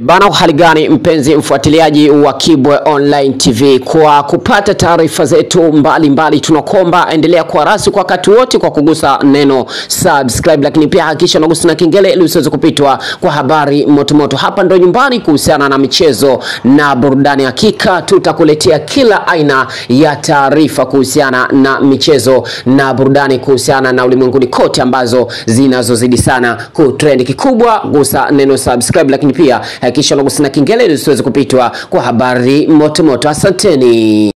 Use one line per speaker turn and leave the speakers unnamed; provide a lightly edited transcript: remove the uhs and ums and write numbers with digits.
Bana, hali gani mpenzi mfuatiliaji wa Kibwe Online TV, kwa kupata taarifa zetu mbalimbali tunakomba endelea kuwa rasi kwa wakati wote kwa kugusa neno subscribe, lakini pia hakikisha unagusa na kengele ili usiweze kupitwa kwa habari motomoto. Hapa ndo nyumbani kuhusiana na michezo na burudani, hakika tutakuletea kila aina ya taarifa kuhusiana na michezo na burudani, kuhusiana na ulimwenguni kote ambazo zinazozidi sana kutrend. Kikubwa gusa neno subscribe, lakini pia hakikisha unagusa na kengele ili usiweze kupitwa kwa habari moto moto. Asanteni.